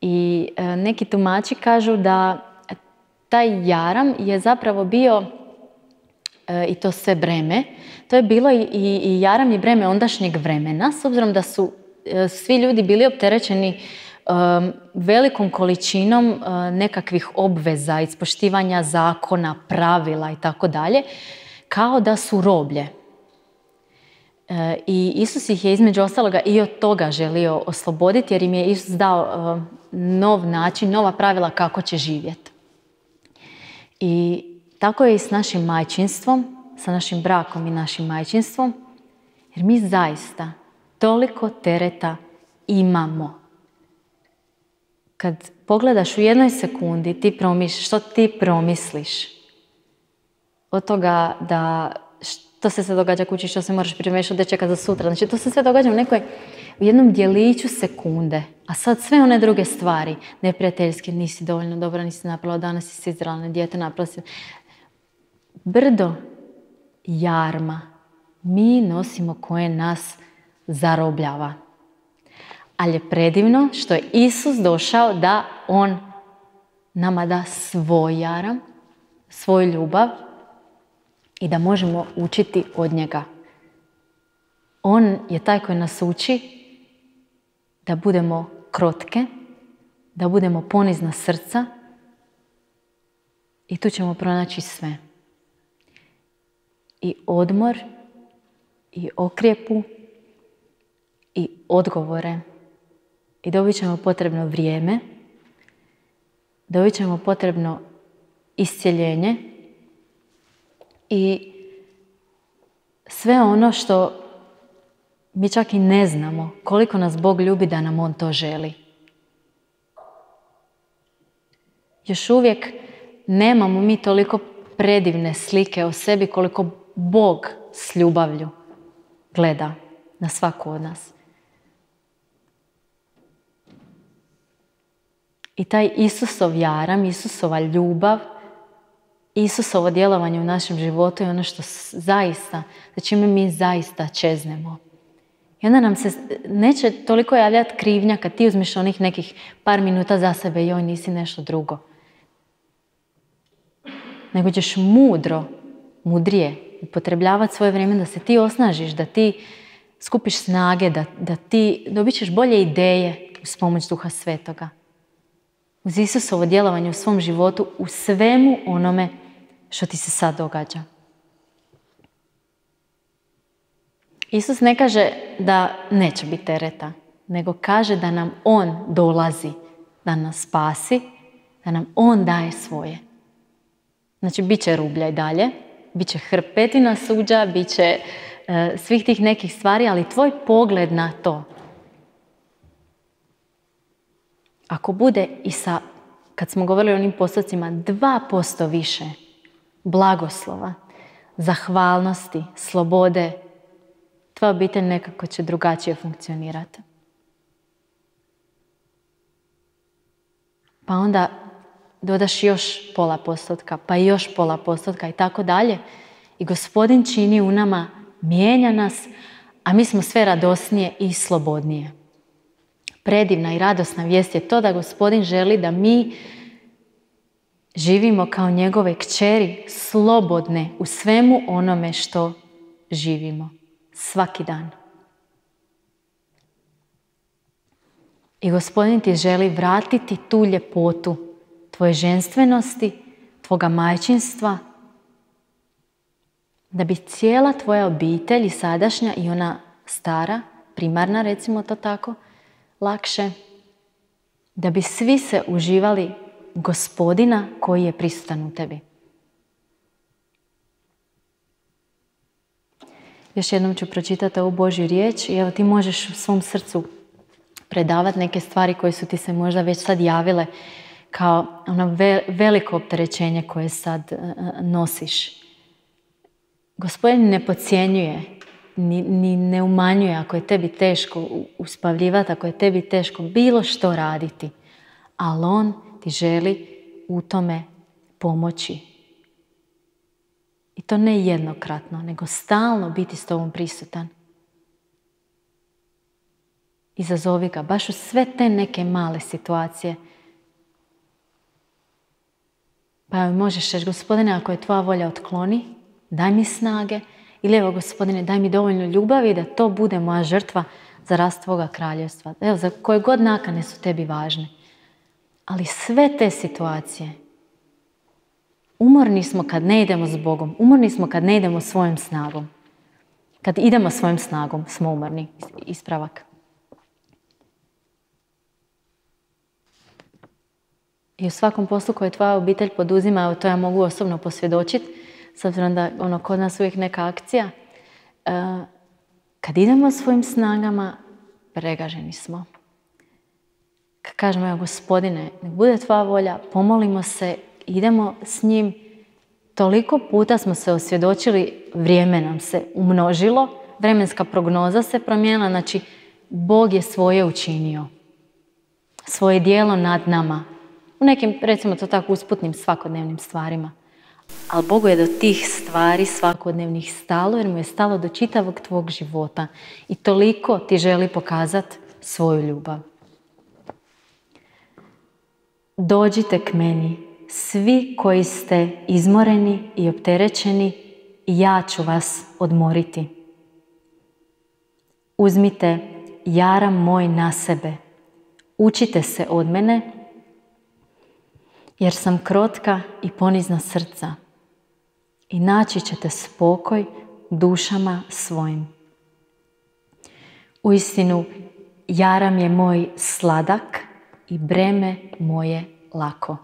I neki tumači kažu da taj jaram je zapravo bio i to sve breme. To je bilo i jaram i breme ondašnjeg vremena, s obzirom da su svi ljudi bili opterećeni velikom količinom nekakvih obveza, ispoštivanja zakona, pravila i tako dalje, kao da su roblje. I Isus ih je između ostaloga i od toga želio osloboditi, jer im je Isus dao nov način, nova pravila kako će živjeti. I tako je i s našim majčinstvom, sa našim brakom i našim majčinstvom, jer mi zaista toliko tereta imamo. Kad pogledaš u jednoj sekundi, što ti promisliš od toga da što se sve događa kući, što se moraš pripremiti, što te čeka za sutra. Znači, to se sve događa u jednom djeliću sekunde. A sad sve one druge stvari, neprijateljske, nisi dovoljno dobra, nisi napravila, danas si se izrala, dijete napravila si. Brdo jarma mi nosimo koje nas zarobljava. Ali je predivno što je Isus došao da on nama da svoj jaram, svoju ljubav, i da možemo učiti od njega. On je taj koji nas uči da budemo krotke, da budemo ponizna srca i tu ćemo pronaći sve. I odmor, i okrijepu, i odgovore. I dobit ćemo potrebno vrijeme, dobit ćemo potrebno iscjeljenje i sve ono što mi čak i ne znamo koliko nas Bog ljubi da nam On to želi. Još uvijek nemamo mi toliko predivne slike o sebi koliko Bog s ljubavlju gleda na svaku od nas. I taj Isusov jaram, Isusova ljubav, Isusovo djelovanje u našem životu je ono što zaista, za čime mi zaista čeznemo. I onda nam se neće toliko javljati krivnja kad ti uzmeš onih nekih par minuta za sebe, joj, nisi nešto drugo. Nego ćeš mudrije upotrebljavati svoje vrijeme da se ti osnažiš, da ti skupiš snage, da ti dobit ćeš bolje ideje uz pomoć Duha Svetoga. Uz Isusovo djelovanje u svom životu, u svemu onome što ti se sad događa. Isus ne kaže da neće biti tereta, nego kaže da nam On dolazi da nas spasi, da nam On daje svoje. Znači, bit će rublja i dalje, bit će hrpetina suđa, bit će svih tih nekih stvari, ali tvoj pogled na to, ako bude i sa, kad smo govorili o onim postocima, 2% više blagoslova, zahvalnosti, slobode, tvoja obitelj nekako će drugačije funkcionirati. Pa onda dodaš još pola postotka, pa još pola postotka i tako dalje. I Gospodin čini u nama, mijenja nas, a mi smo sve radosnije i slobodnije. Predivna i radosna vijest je to da Gospodin želi da mi živimo kao njegove kćeri, slobodne u svemu onome što živimo. Svaki dan. I Gospodin ti želi vratiti tu ljepotu tvoje ženstvenosti, tvoga majčinstva, da bi cijela tvoja obitelj, i sadašnja i ona stara, primarna, recimo to tako, lakše, da bi svi se uživali Gospodina koji je prisutan u tebi. Još jednom ću pročitati ovu Božju riječ i evo ti možeš u svom srcu predavati neke stvari koje su ti se možda već sad javile kao ono veliko opterećenje koje sad nosiš. Gospodin ne podcjenjuje, ni ne umanjuje ako je tebi teško uspavljivati, ako je tebi teško bilo što raditi. Ali on ti želi u tome pomoći. I to ne jednokratno, nego stalno biti s tobom prisutan. Izazovi ga, baš u sve te neke male situacije. Pa možeš reći, Gospodine, ako je tvoja volja, otkloni, daj mi snage. Ili evo, Gospodine, daj mi dovoljno ljubavi da to bude moja žrtva za rast tvoga kraljevstva. Evo, za koje god nakane su tebi važne. Ali sve te situacije, umorni smo kad ne idemo s Bogom. Umorni smo kad ne idemo svojom snagom. Kad idemo svojom snagom, smo umorni. Ispravak. I u svakom poslu koje tvoja obitelj poduzima, to ja mogu osobno posvjedočiti, s obzirom da kod nas uvijek neka akcija. Kad idemo svojim snagama, pregaženi smo. Kad kažemo, evo, Gospodine, nek bude tvoja volja, pomolimo se, idemo s njim. Toliko puta smo se osvjedočili, vrijeme nam se umnožilo, vremenska prognoza se promijenila, znači Bog je svoje učinio. Svoje djelo nad nama. U nekim, recimo to tako, usputnim svakodnevnim stvarima. Ali Bogu je do tih stvari svakodnevnih stalo, jer mu je stalo do čitavog tvog života. I toliko ti želi pokazati svoju ljubav. Dođite k meni, svi koji ste izmoreni i opterećeni, i ja ću vas odmoriti. Uzmite jaram moj na sebe. Učite se od mene, jer sam krotka i ponizna srca. I naći ćete spokoj dušama svojim. Uistinu, jaram je moj sladak i breme moje lako.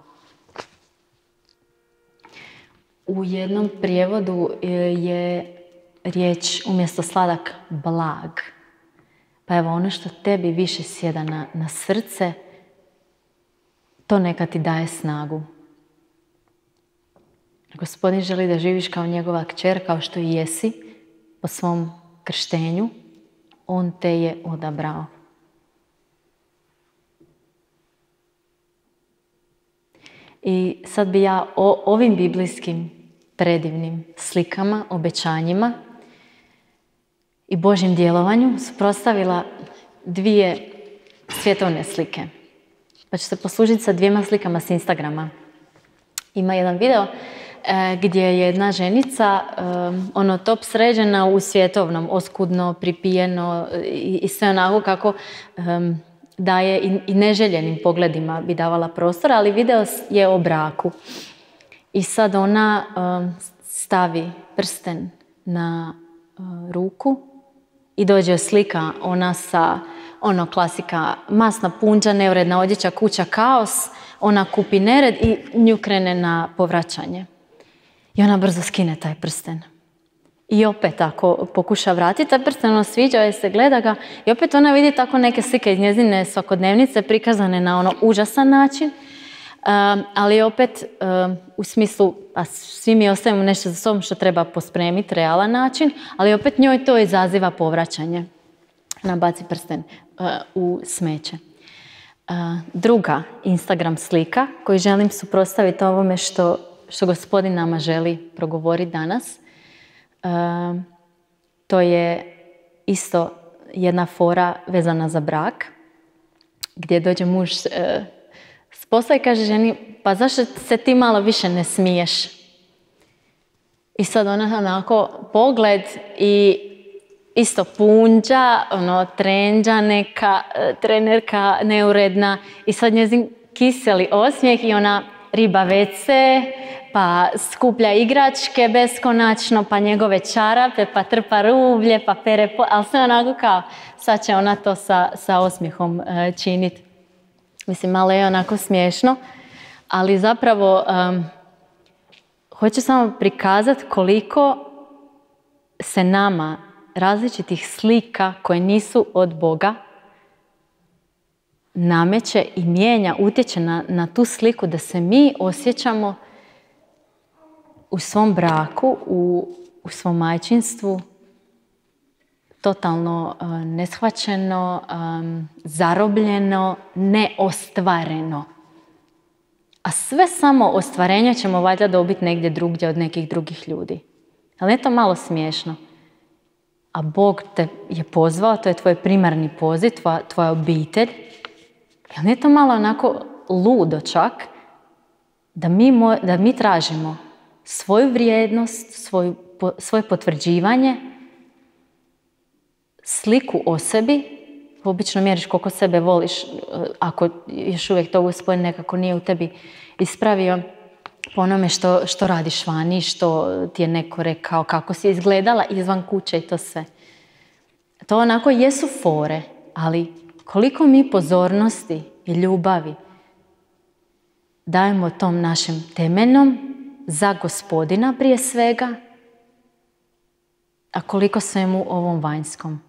U jednom prijevodu je riječ umjesto sladak blag. Pa evo, ono što tebi više sjeda na srce, to neka ti daje snagu. Gospodin želi da živiš kao njegova kćer, kao što i jesi, po svom krštenju. On te je odabrao. I sad bi ja ovim biblijskim predivnim slikama, obećanjima i Božjem djelovanju suprotstavila dvije svjetovne slike. Pa ću se poslužiti sa dvijema slikama s Instagrama. Ima jedan video gdje je jedna ženica top sređena u svjetovnom, oskudno, pripijeno i sve onako kako daje i neželjenim pogledima bi davala prostor, ali video je o braku. I sad ona stavi prsten na ruku i dođe slika ona sa klasika, masna punđa, neuredna odjeća, kuća, kaos, ona kupi nered i nju krene na povraćanje. I ona brzo skine taj prsten. I opet ako pokuša vratiti taj prsten, ono sviđa joj se, gleda ga i opet ona vidi tako neke slike iz njezine svakodnevnice prikazane na užasan način, ali opet u smislu, a svi mi ostavimo nešto za sobom što treba pospremiti, realan način, ali opet njoj to izaziva povraćanje. Ona baci prsten u smeće. Druga Instagram slika koju želim suprotstaviti ovome što Gospodin nama želi progovoriti danas. To je isto jedna fora vezana za brak, gdje dođe muž s posla i kaže ženi, pa zašto se ti malo više ne smiješ? I sad ona onako pogled i isto punđa, trendža neka, trenerka neuredna i sad njezin kiseli osmijeh i ona riba vece, pa skuplja igračke beskonačno, pa njegove čarape, pa trpa rublje, pa pere, ali sve onako kao, sad će ona to sa osmijehom činiti. Mislim, malo je onako smiješno, ali zapravo hoću samo prikazati koliko se nama različitih slika koje nisu od Boga nameće i mijenja, utječe na tu sliku da se mi osjećamo u svom braku, u svom majčinstvu totalno neshvaćeno, zarobljeno, neostvareno. A sve samo ostvarenje ćemo valjda dobiti negdje drugdje od nekih drugih ljudi. Ali je to malo smiješno. A Bog te je pozvao, to je tvoj primarni poziv, tvoja obitelj. Ali je to malo onako ludo čak, da mi tražimo svoju vrijednost, svoje potvrđivanje, sliku o sebi. Obično mjeriš koliko sebe voliš, ako još uvijek to Gospodin nekako nije u tebi ispravio po onome što radiš vani, što ti je neko rekao, kako si izgledala izvan kuće i to sve. To onako jesu fore, ali koliko mi pozornosti i ljubavi dajemo tom našem temeljnom za Gospodina prije svega, a koliko svemu ovom vanjskom.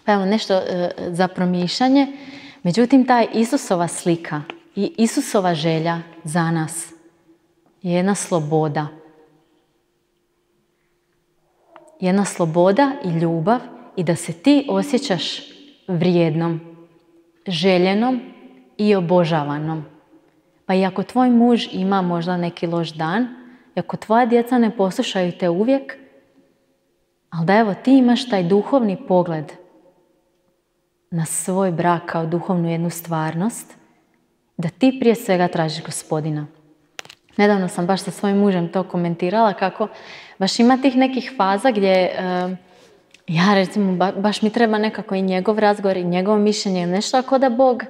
Pa evo nešto za promišljanje. Međutim, ta Isusova slika i Isusova želja za nas je jedna sloboda. Jedna sloboda i ljubav i da se ti osjećaš vrijednom, željenom i obožavanom. Pa i ako tvoj muž ima možda neki loš dan, i ako tvoja djeca ne poslušaju te uvijek, ali da evo ti imaš taj duhovni pogled na svoj brak kao duhovnu jednu stvarnost, da ti prije svega tražiš Gospodina. Nedavno sam baš sa svojim mužem to komentirala, kako baš ima tih nekih faza gdje ja recimo baš mi treba nekako i njegov razgovor i njegovo mišljenje, nešto ako da Bog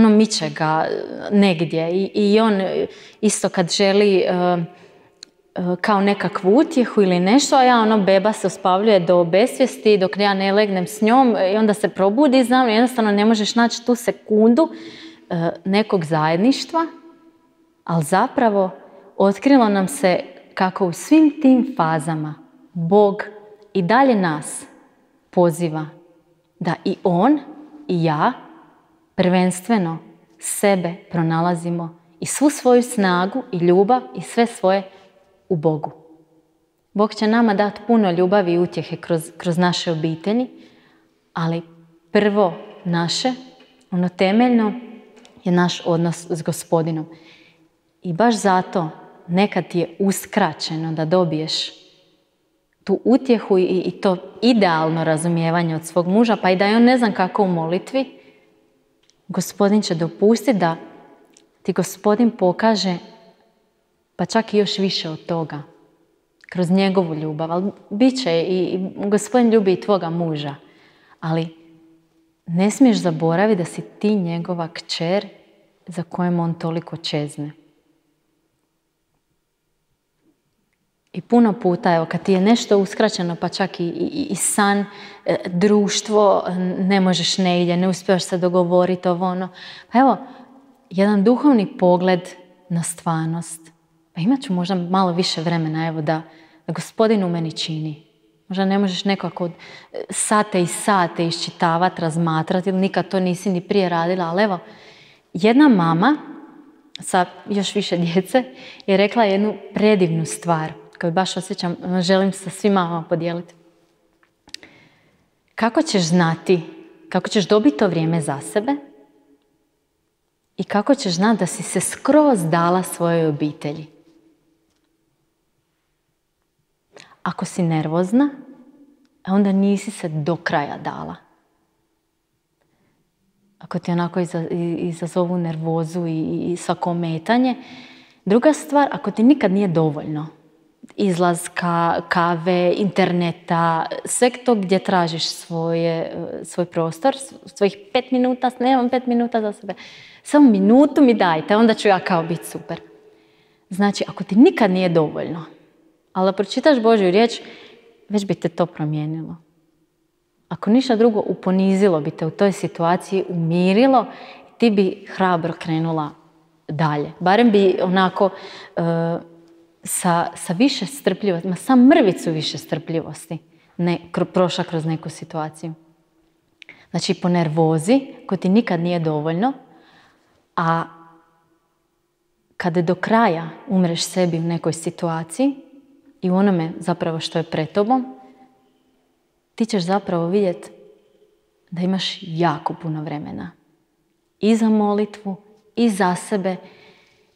miče ga negdje i on isto kad želi kao nekakvu utjehu ili nešto, a ja beba se uspavljuje do besvijesti dok ja ne legnem s njom i onda se probudi za mnom i jednostavno ne možeš naći tu sekundu nekog zajedništva, ali zapravo otkrilo nam se kako u svim tim fazama Bog i dalje nas poziva da i on i ja prvenstveno sebe pronalazimo i svu svoju snagu i ljubav i sve svoje u Bogu. Bog će nama dati puno ljubavi i utjehe kroz naše obitelji, ali prvo naše, ono temeljno, je naš odnos s Gospodinom. I baš zato nekad ti je uskraćeno da dobiješ tu utjehu i to idealno razumijevanje od svog muža, pa i da je on ne znam kako u molitvi, Gospodin će dopustiti da ti Gospodin pokaže pa čak i još više od toga, kroz njegovu ljubav. Ali bit će i Gospodin ljubi i tvoga muža. Ali ne smiješ zaboraviti da si ti njegova kćer za kojem on toliko čezne. I puno puta, evo, kad ti je nešto uskraćeno, pa čak i san, društvo, ne možeš negdje, ne uspijevaš se dogovoriti ovo ono. Pa evo, jedan duhovni pogled na stvarnost. Pa imat ću možda malo više vremena, evo, da Gospodin u meni čini. Možda ne možeš nekako sate i sate iščitavati, razmatrati, ili nikad to nisi ni prije radila, ali evo, jedna mama sa još više djece je rekla jednu predivnu stvar koju baš osjećam, želim sa svima vam podijeliti. Kako ćeš znati, kako ćeš dobiti to vrijeme za sebe i kako ćeš znati da si se skroz dala svojoj obitelji? Ako si nervozna, onda nisi se do kraja dala. Ako ti onako izazovu nervozu i svako ometanje. Druga stvar, ako ti nikad nije dovoljno izlaska, kave, interneta, sve to gdje tražiš svoj prostor, svojih 5 minuta, nemam 5 minuta za sebe, samo minutu mi dajte, onda ću ja kao biti super. Znači, ako ti nikad nije dovoljno, ali da pročitaš Božju riječ, već bi te to promijenilo. Ako ništa drugo, uponizilo bi te u toj situaciji, umirilo, ti bi hrabro krenula dalje. Barem bi onako sa više strpljivosti, sam mrvicu više strpljivosti, prošla kroz neku situaciju. Znači po nervozi, koja ti nikad nije dovoljno, a kada do kraja umreš sebi u nekoj situaciji i u onome zapravo što je pred tobom, ti ćeš zapravo vidjeti da imaš jako puno vremena. I za molitvu, i za sebe.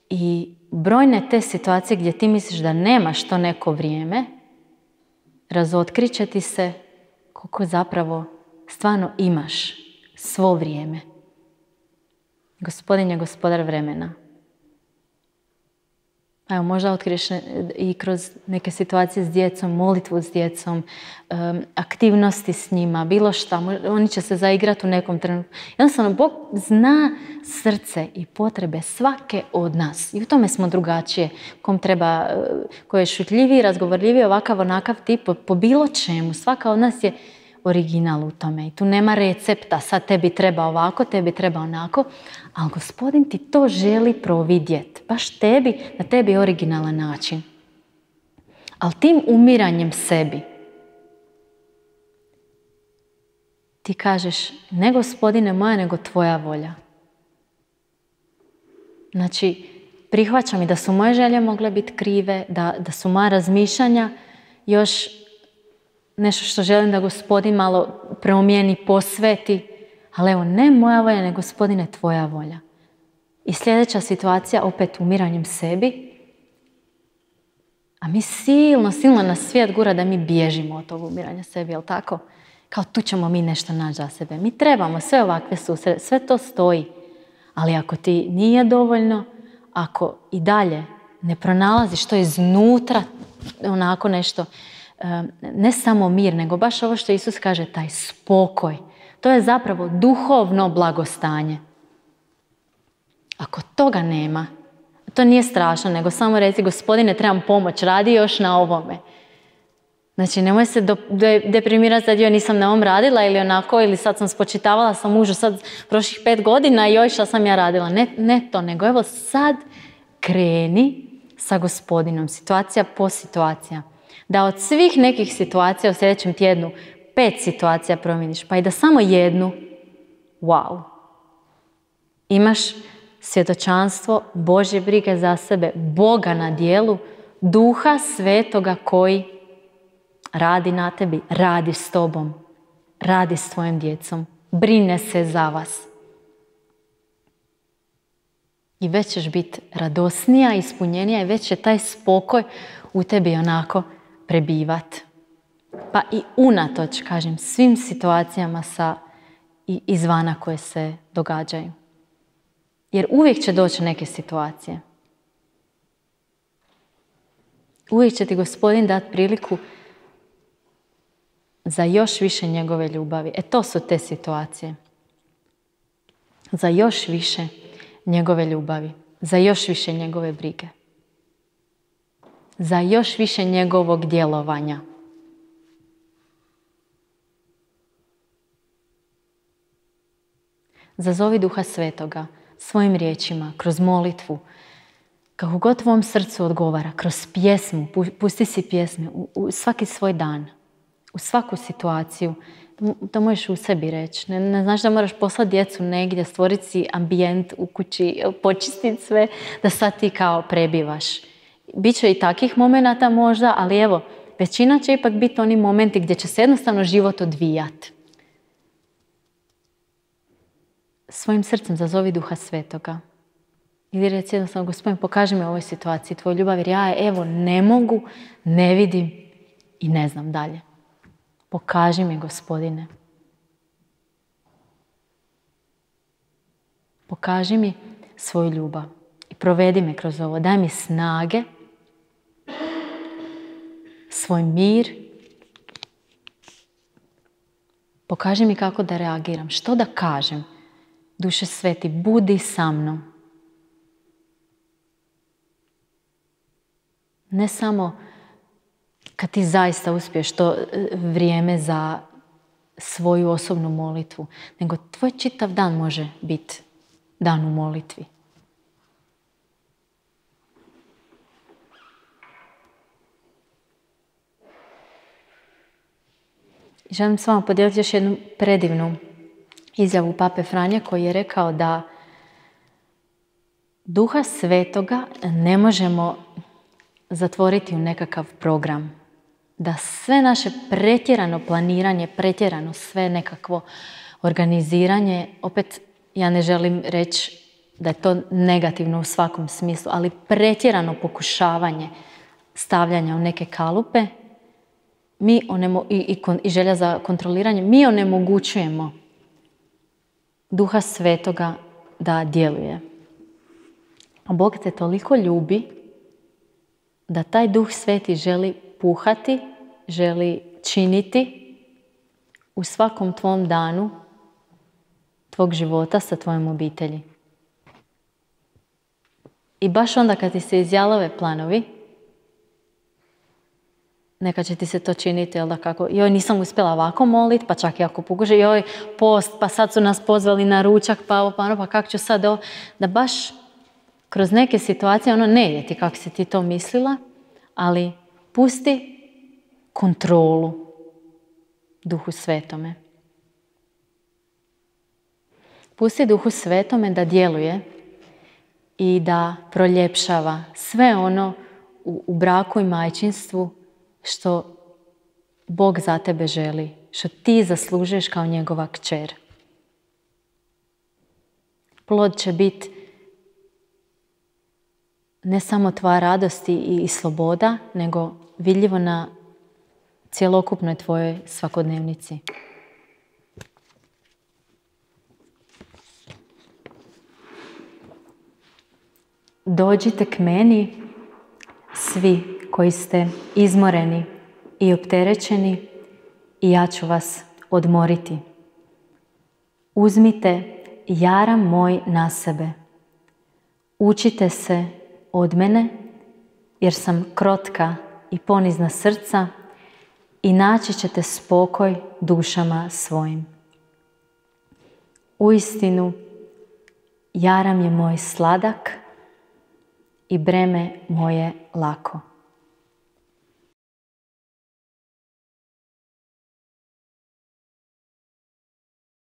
I brojne te situacije gdje ti misliš da nemaš to neko vrijeme, razotkrit će ti se koliko zapravo stvarno imaš svo vrijeme. Gospodin je gospodar vremena. Evo, možda otkriješ i kroz neke situacije s djecom, molitvu s djecom, aktivnosti s njima, bilo šta. Oni će se zaigrati u nekom trenutku. Jednostavno, Bog zna srce i potrebe svake od nas. I u tome smo drugačije. Kom treba, ko je šutljiviji, razgovorljiviji, ovakav, onakav tip, po bilo čemu. Svaka od nas je original u tome. I tu nema recepta, sad tebi treba ovako, tebi treba onako. Ali Gospodin ti to želi providjeti. Baš tebi, na tebi originalan način. Ali tim umiranjem sebi ti kažeš, ne Gospodine moja, nego tvoja volja. Znači, prihvaćam i da su moje želje mogle biti krive, da su moja razmišljanja još nešto što želim da Gospodin malo promijeni, posveti. Ali evo, ne moja volja, nego Gospodine, tvoja volja. I sljedeća situacija, opet umiranjem sebi. A mi silno nas svijet gura da mi bježimo od tog umiranja sebi, jel tako? Kao tu ćemo mi nešto naći za sebe. Mi trebamo sve ovakve susrete, sve to stoji. Ali ako ti nije dovoljno, ako i dalje ne pronalaziš to iznutra, onako nešto, ne samo mir, nego baš ovo što Isus kaže, taj spokoj. To je zapravo duhovno blagostanje. Ako toga nema, to nije strašno, nego samo reci, Gospodine, trebam pomoć, radi još na ovome. Znači, nemoj se deprimirati sad, nisam na ovom radila ili onako, ili sad sam spočitavala sam mužu sad prošlih 5 godina i joj šta sam ja radila. Ne to, nego evo sad kreni sa Gospodinom, situacija po situacija. Da od svih nekih situacija u sljedećem tjednu 5 situacija promijeniš, pa i da samo jednu, wow. Imaš svjedočanstvo Božje brige za sebe, Boga na dijelu, Duha Svetoga koji radi na tebi, radi s tobom, radi s tvojim djecom, brine se za vas. I već ćeš biti radosnija, ispunjenija i već će taj spokoj u tebi onako prebivati. Pa i unatoč, kažem, svim situacijama izvana koje se događaju. Jer uvijek će doći neke situacije. Uvijek će ti Gospodin dati priliku za još više njegove ljubavi. To su te situacije. Za još više njegove ljubavi. Za još više njegove brige. Za još više njegovog djelovanja. Zazovi Duha Svetoga svojim riječima, kroz molitvu, kako god tvom srcu odgovara, kroz pjesmu, pusti si pjesme u svaki svoj dan, u svaku situaciju. To možeš u sebi reći. Ne znaš da moraš poslati djecu negdje, stvoriti si ambijent u kući, počistiti sve, da sad ti kao prebivaš. Biće i takvih momenata možda, ali evo, većina će ipak biti oni momenti gdje će se jednostavno život odvijati. Svojim srcem zazovi Duha Svetoga. Ili reci jednostavno, Gospodin, pokaži mi u ovoj situaciji tvoju ljubav, jer ja evo ne mogu, ne vidim i ne znam dalje. Pokaži mi, Gospodine. Pokaži mi svoju ljubav i provedi me kroz ovo. Daj mi snage, svoj mir. Pokaži mi kako da reagiram, što da kažem. Duše Sveti, budi sa mnom. Ne samo kad ti zaista uspiješ to vrijeme za svoju osobnu molitvu, nego tvoj čitav dan može biti dan u molitvi. Želim s vama podijeliti još jednu predivnu izjavu Pape Franje koji je rekao da Duha Svetoga ne možemo zatvoriti u nekakav program. Da sve naše pretjerano planiranje, pretjerano sve nekakvo organiziranje, opet ja ne želim reći da je to negativno u svakom smislu, ali pretjerano pokušavanje stavljanja u neke kalupe i želja za kontroliranje, mi onemogućujemo Duha Svetoga da djeluje. A Bog te toliko ljubi da taj Duh Sveti želi puhati, želi činiti u svakom tvom danu tvog života sa tvojom obitelji. I baš onda kad ti se izjalove planovi, neka će ti se to činiti, jel da kako, joj nisam uspjela ovako moliti, pa čak i ako pokuša, joj post, pa sad su nas pozvali na ručak, pa kako ću sad ovo, da baš kroz neke situacije ono ne ide ti kako si ti to mislila, ali pusti kontrolu Duhu Svetome. Pusti Duhu Svetome da djeluje i da proljepšava sve ono u braku i majčinstvu što Bog za tebe želi, što ti zaslužuješ kao njegova kćer. Plod će biti ne samo tvoja radost i sloboda, nego vidljivo na cjelokupnoj tvojoj svakodnevnici. Dođite k meni, svi koji ste izmoreni i opterećeni, i ja ću vas odmoriti. Uzmite jaram moj na sebe. Učite se od mene, jer sam krotka i ponizna srca, i naći ćete spokoj dušama svojim. Uistinu, jaram je moj sladak i breme moje lako.